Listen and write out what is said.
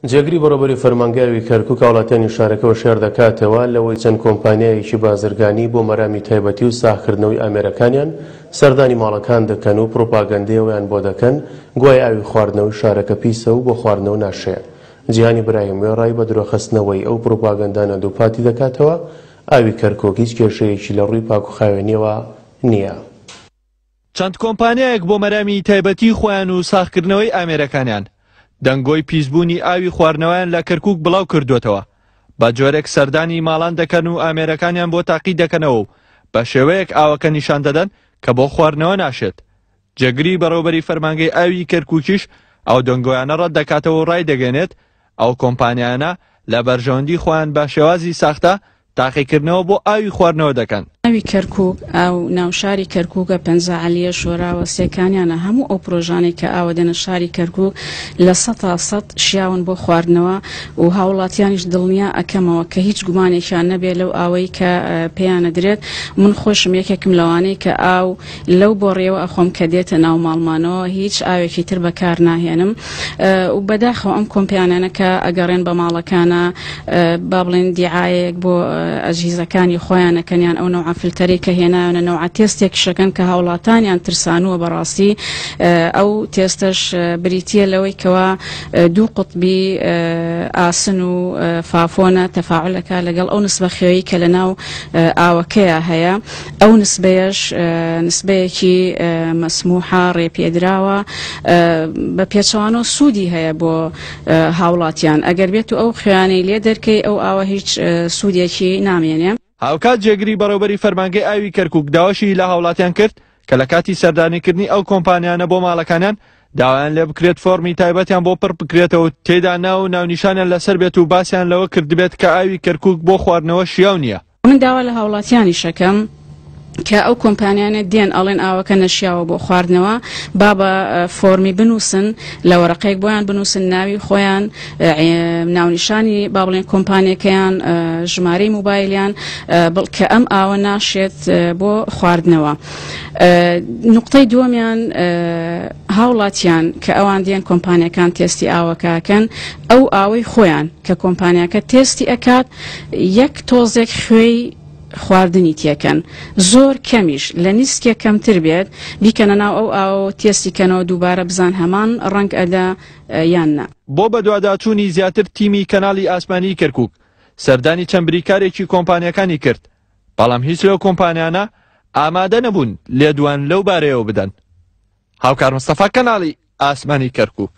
جێگری بەڕێوەبەری فەرمانگەی ئاوی کەرکوک هاوڵاتیانی شارەکە هۆشیار دەکاتەوە لەوەی چەند کۆمپانیایەکی بازرگانی بۆ مەرامی تایبەتی و ساغکردنەوەی ئامێرەکانیان سەردانی ماڵەکان دەکەن و پروپاگەندەی ئەوەیان بۆ دەکەن گوایە ئاوی خواردنەوەی شارەکە پیسە و بۆ خواردنەوە ناشێ. جیهانی براهیم وێڕای بە درۆخستنەوەی ئەو پروپاگەندانە دووپاتی دەکاتەوە ئاوی کەرکوک هیچ کێشەیەکی لە ڕووی پاکوخاوێنیەوە نییە. چەند کۆمپانیایەک بۆ مەرامی تایبەتی خۆیان و ساغکردنەوەی ئامێرەکانیان، دەنگۆی پیسبوونی ئاوی خواردنەوەیان لە کەرکووک بڵاو کردووەتەوە، بە جۆرێک سەردانی ماڵان دەکەن و ئامێرەکانیان بۆ تاقی دەکەنەوە و بە شێوەیەک ئاوەکە نیشان دەدەن کە بۆ خواردنەوە ناشێت. جێگری بەڕێوەبەری فەرمانگەی ئاوی کەرکووکیش ئەو دەنگۆیانە ڕەت دەکاتەوە و ڕایدەگەیەنێت، ئەو کۆمپانیایانە لە بەرژەوەندی خۆیان بە شێوازی ساختە تاقیکردنەوە بۆ ئاوی خواردنەوە دەکەن. ئاوی کەرکوک، ئاو ناو شاری کەرکوکە، پەنجا عەلیە، شۆراوە، سێکانیانە، هەموو ئەو پرۆژانەی کە ئاوە دێنە شاری کەرکوک 100% شیاون بۆ خواردنەوە و هاوڵاتیانیش دڵنیا ئەکەمەوە کە هیچ گومانێکیان نەبێ لەو ئاوەی کە پێیان ئەدرێت، من خۆشم یەکێکم لەوانەی کە ئاو لەو بۆڕیەوە ئەخۆم کە دێتە ناو ماڵمانەوە هیچ ئاوێکی تر بەکار ناهێنم و بەداخەوە ئەم کۆمپیانانە کە ئەگەڕێن بە ماڵەکانە با بڵێن دیعاەیەک بۆ ئەجهیزەکانی خۆیان ئەکەن یان ئەو نەوعە فلتەرەی کە هێنایانە نەوعە تێستێکیشەکەن کە هاوڵاتانیان ترسانووە بەڕاستی ئەو تێستەش بریتییە لەوەی کەوا دوو قوتبی ئاسن و فافۆنە تەفاعلەکە لەگەڵ ئەو نسبە خوێی کە لەناو ئاوەکەیا هەیە ئەو نسبەیەش نسبەیەکی مەسموحە، ڕێپێدراوە، بە پێچەوانەوە سوودی هەیە بۆ هاوڵاتیان، ئەگەر بێت و ئەو خوێیانەی لێ دەرکەی ئەو ئاوە هیچ سوودێکی نامێنێ. هاوکات جێگری بەڕێوبەری فەرمانگەی ئاوی کەرکوک داواشی لە هاوڵاتیان کرد کە لە کاتی سەردانیکردنی ئەو کۆمپانیانە بۆ ماڵەکانیان داوایان لێبکرێت فۆڕمی تایبەتیان بۆ پڕ بکرێتەوە و تێیدا ناو و ناونیشانیان لەسەر بێت و باسیان لەوە کردبێت کە ئاوی کەرکوک بۆ خواردنەوە شیاو نییە. من داوا لە هاوڵاتیانیش ئەکەم کە ئەو کۆمپانیانە دێن ئەڵێن ئاوەکە نەشیاوە بۆ خواردنەوە با بە فۆرمی بنووسن لە وەرەقەیەک بۆیان بنووسن ناوی خۆیان ناونیشانی با بڵێن کۆمپانیەکەیان ژمارەی موبایلیان کە ئەم ئاوە ناشێت بۆ خواردنەوە نقطەی دووەمیان هاوڵاتیان کە ئەوان دێن کۆمپانیەکان تێستی ئاوەکەکەن ئەو ئاوەی خۆیان کە کۆمپانیاکە تێستی ئەکات یەک تۆزێک خوێی خواردنی تێکەن زۆر کەمیش لە نیسکێک کەمتر بێت بیکەنە ناو ئەو ئاوەوە تێستی کەنەوە دووبارە بزان هەمان ڕەنگ ئەدا یان نا. بۆ بەدواداچوونی زیاتر تیمی کەناڵی ئاسمانیی کەرکوک سەردانی چەند بریکارێکی کۆمپانیاکانی کرد، بەڵام هیچ لەو کۆمپانیانە ئامادە نەبوون لێدوان لەو بارەیەوە بدەن. هاوکار مستەفا کەناڵی ئاسمانی کەرکوک.